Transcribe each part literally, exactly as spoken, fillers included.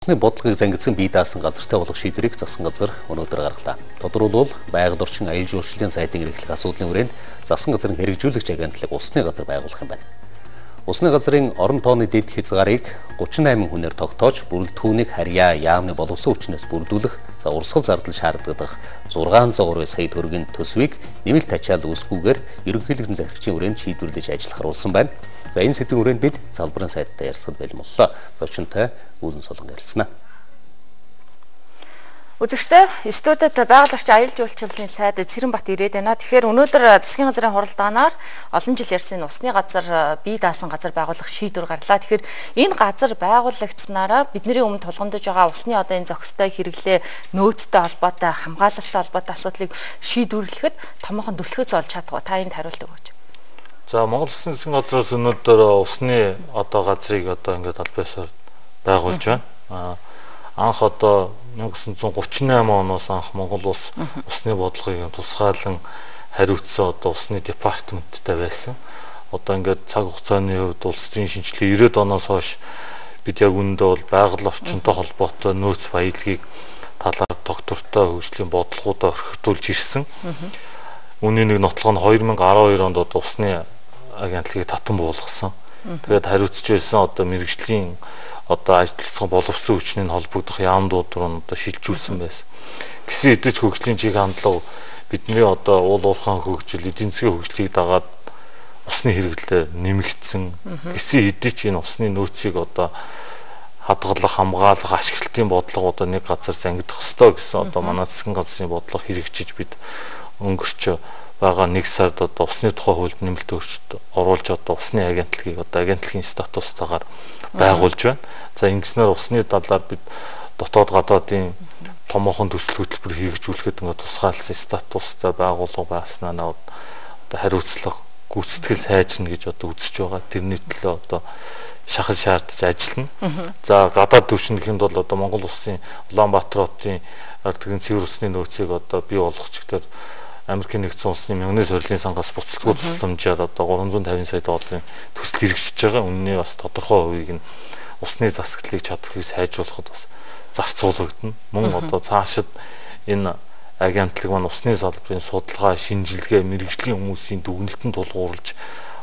Усны бодлогыг зангидсан бие даасан газартай болох шийдвэрийг засгийн газар өнөөдөр гаргалаа. Тодорхойлбол байгаль орчин аюул жуулчлалын сайтыг эрхлэх асуудлын хүрээнд засгийн газрын хэрэгжүүлэгч агентлаг усны газар байгуулах юм байна. Усны газрын орон тооны дэд хязгаарыг гучин найман хүнээр тогтоож, бүрэлдэхүүнийг харьяа яамны боловсон хүчнээс бүрдүүлэх, урсгал зардал шаарддаг зургаан зуун сая төгрөгийн төсвийг нэмэлт ачаал үүсгүүгээр ерөнхийлөгчийн захирагчийн хүрээнд шийдвэрлэж ажиллах харуулсан байна. За энэ сэдвийн хүрээнд бид салбарын сайттай ярилцсад байлмоллоо. Зочинтой Үүлэн Солон ярилцсанаа. Үзэгчдээ студид байгаль орчин аюул жуулчлалын сайд Цэранбат ирээд байна. Тэгэхээр өнөөдөр засгийн газрын хуралдаанаар олон жил ярьсан усны газар бие даасан газар байгуулах шийдвэр гарлаа. Тэгэхээр энэ газар байгуулагдсанаараа бидний өмнө тулгамдж байгаа усны одоо энэ зохистой хэрэглээ нөөцтэй холбоотой хамгаалалттай холбоотой асуудлыг шийдвэрлэхэд томоохон түлхүүц олж чадах. Та энд хариулт өгөөч. За Монгол Улсын засгийн газраас өнөөдөр усны одоо газрыг одоо ингээд албаасаар байгуулж байна. Анх одоо мянга девятьсот гуравч восемь оноос анх Монгол улс усны бодлогыг тусгаалan хариуцсан одоо усны департаменттай байсан. Одоо ингээд цаг хугацааны хувьд улс төрийн шинжилгээ девяносто оноос хойш бид яг үүндээ бол байгаль орчинтой холбоотой нөөц баялагийг талаар доктортой хөгжлийн бодлогуудаа орхитуулж ирсэн. Үүний нэг нотлого нь две тысячи десять онд одоо усны агентлагийг татан буулгасан. Тэгээд хариуцж байсан одоо мэрэгжлийн одоо ажилласан боловсон хүчний холбогдох яамдууд руу одоо шилжүүлсэн байсан. Гэсэн хэдий ч хөгжлийн чиг хандлага бидний одоо уул уурхайн хөгжил, эдийн засгийн хөгжлийг дагаад усны хэрэглээ нэмэгдсэн. Гэсэн хэдий ч энэ усны нөөцийг одоо хадгалах, хамгаалах, ашиглалтын бодлого одоо нэг газар зангидах ёстой гэсэн одоо манай засгийн газрын бодлого хэрэгжиж бид өнгөрч байгаа нэг сард одоо усны тухай хуульд нэмэлт өөрчлөлт оруулж одоо усны агентлагийг одоо агентлагийн статустайгаар байгуулж байна. За ингэснээр усны талаар бид дотоод гадаадын томоохон төсөл хөтөлбөр хэрэгжүүлэхэд ингээд тусгаалсан статустай байгууллага байснаа одоо хариуцлага гүйцэтгэл сайжирна гэж одоо үзэж байгаа. Тэрний төлөө одоо шахал шаардж ажиллана. За гадаад төвшинхэнд бол одоо Монгол улсын Улаанбаатар хотын ардгийн цэвэр усны нөөцийг одоо бий болгоч гэдэг Америкийн нэгдсэн улсны мянганы сорилын сангаас буцалтгүй тусламжаар одоо гурван зуун тавин сая долларын төсөл хэрэгжиж байгаа. Үнэний бас тодорхой хувийг нь усны засаглалыг чадварыг сайжруулахад бас зарцуулагдана. Мөн одоо цаашид энэ агентлаг маань усны салбарын судалгаа, шинжилгээ, мэрэгжлийн хүмүүсийн дүгнэлтэнд тулгуурлаж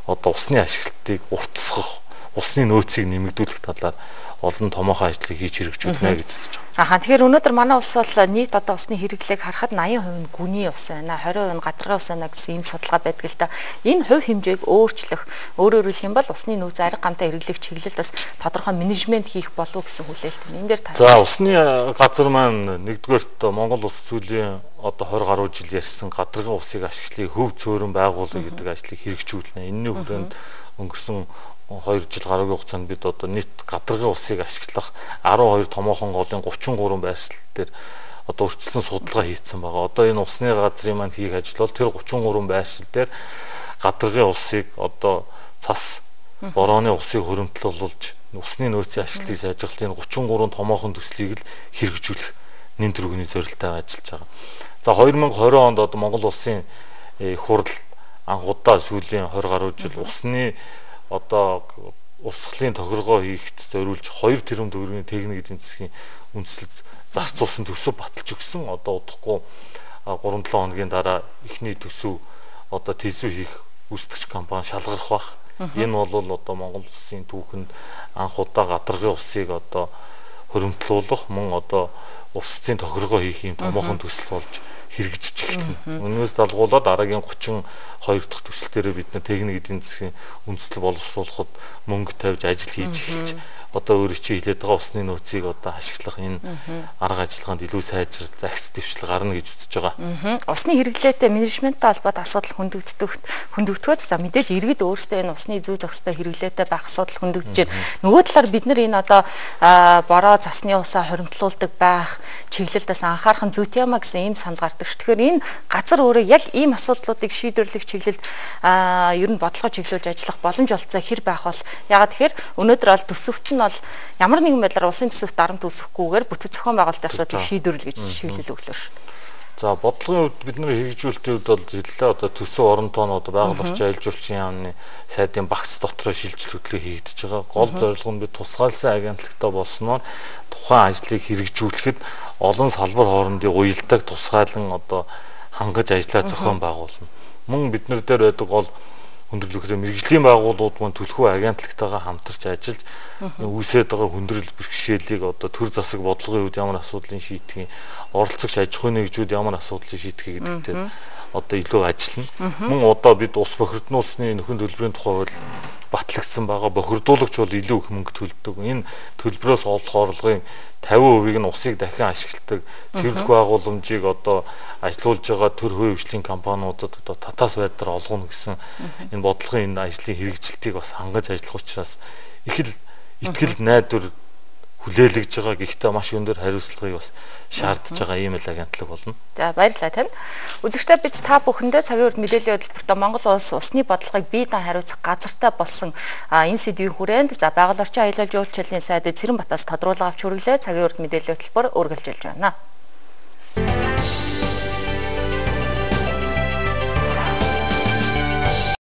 одоо усны ашиглалтыг уртасгах, усны нөөцийг нэмэгдүүлэх талаар олон томоохон ажлыг хийж хэрэгжүүлнэ гэж үзэж байгаа. Аха тэгэхээр өнөөдөр манай улс бол нийт одоо усны хэрэглээг харахад eighty percent нь гүний ус байна, twenty percent нь гадаргын ус байна гэсэн ийм судалгаа байдаг л да. Энэ хувь хэмжээг өөрчлөх, өөрөөр хэлэх юм бол усны нөөц арга гамтай хэрэглэх чиглэлд бас тодорхой менежмент хийх болов гэсэн хүлээлт байна. Энэ дээр та. За усны газар маань нэгдүгээрт Монгол улс зүйлийн одоо twenty гаруй жил ярьсан гадаргын усыг ашиглахыг хөв цөөрөн байгуулах гэдэг ажлыг хэрэгжүүлнэ. Энэний хүрээнд өнгөрсөн two жил гаруйгийн хугацаанд бид одоо нийт гадаргын усыг ашиглах twelve томоохон голын thirty-three байршил дээр одоо өрчлсөн судалгаа хийсэн байгаа. Одоо энэ усны газрын маань хийх ажил бол тэр thirty-three байршил дээр гадаргын усыг одоо цас борооны усыг хөрөмтлүүлж усны нөөцийн ашиглалтыг сайжруулах энэ thirty-three томоохон төслийг л хэрэгжүүлэх нэн төрөгийн зорилттой ажиллаж байгаа. За twenty twenty онд одоо Монгол улсын хурал анх удаа сүүлийн twenty гаруй жил усны одоо урсгалын тохиргоо хийхэд зориулж two тэрбум төгрөгийн техник эдийн засгийн үндэслэл зарцуулсан төсөв баталж өгсөн. Одоо удахгүй three seven хоногийн дараа эхний төсөв одоо тэсүү хийх үүсгэгч компани шалгарах бах. Энэ бол одоо Монгол улсын түүхэнд анх удаа гадаргын усыг одоо хөрөмтлүүлэх, мөн одоо урсцын тохиргоо хийх юм томоохон төсөл болж хэрэгжиж эхэлнэ. Өнөөс далгуулаад дараагийн thirty-two дахь төсөл дээр бид нэ техник эдийн засгийн үндэслэл боловсруулахад мөнгө тавьж ажил хийж эхэлж одоо өөрөө чи хэлээд байгаа усны нөөцийг одоо ашиглах энэ арга ажиллагаанд илүү сайжрал, захис дэвшил гарна гэж үзэж байгаа. Усны хэрэглээтэй менежменттэй холбоотой асуудал хөндөгдөх хөндөгдөхөд за мэдээж иргэд өөрсдөө энэ усны зүй зохистой хэрэглээтэй байх асуудал хөндөгдөж байна. Нөгөө талаар бид нар энэ одоо бороо засны усаа хоримтлуулдаг байх чиглэлдээс анхаарах нь зүйтэй юмаа гэсэн ийм санал гардаг ш. Тэгэхээр энэ газар өөрөө яг ийм асуудлуудыг шийдвэрлэх чиглэлд ер нь бодлого чиглүүлж ажиллах боломж олцоо хэр байх бол ягаад тэгэхээр өнөөдөр бол төсөвт нь бол ямар нэгэн байдлаар улсын төсөвт дарамт үүсэхгүйгээр бүтэц зохион байгуулалтын асуудлыг шийдвэрлэх гэж шийдэл өглөө ш. За бодлогын хувьд бид нэр хэрэгжүүлэлтийн хувьд бол хэллээ одоо төсөв орон тоон одоо байгаль орчин аялал жуулчлалын яамны сайдын багц дотроо шилжилт хөтлөг хийгдэж байгаа. Гол зорилго нь бид тусгаалсан агентлагтай болсноор тухайн ажлыг хэрэгжүүлэхэд олон салбар хоорондын уялдааг тусгаалan одоо хангаж ажиллаа зохион байгуулна. Мөн бид нар дээр байдаг гол хүндрэлтэй мэрэгжлийн байгууллагууд мань төлхөө агентлагтайгаа хамтарч ажиллаж үүсээд байгаа хүндрэл бэрхшээлийг одоо төр засаг бодлогын үед ямар асуудлыг шийдэх, оролцогч аж ахуйн нэгжүүд ямар асуудлыг шийдэх гэдэгтэй одоо илүү ажиллана. Мөн одоо бид ус бохирднуулсны нөхөн төлбөрийн тухай бол батлагдсан байгаа. Бохирдуулагч бол илүү их мөнгө төлдөг. Энэ төлбөрөөс олох орлогын тавин хувийг нь усыг дахин ашигладаг цэвэрлэх байгууламжийг одоо ажилуулж байгаа төр хувийн компаниудад одоо татаас байдлаар олгоно гэсэн энэ бодлогын энэ ажлын хэрэгжилтийг бас хангаж ажиллах учраас их л итгэл найдвар хүлээлгэж байгаа. Гэхдээ маш өндөр хариуцлагыг бас шаардж байгаа ийм л агентлаг болно. За баярлалаа тань. Үзэгчдээ бид та бүхэндээ цагийн урд мэдээллийн хөтөлбөртөө Монгол улс усны бодлогыг бие даан хариуцах газартай болсон энэ сэдвийн хүрээнд за байгаль орчин аялал жуулчлалын сайд Цэрэнбатаас тодруулга авч хүргэлээ. Цагийн урд мэдээллийн хөтөлбөр үргэлжилж байна.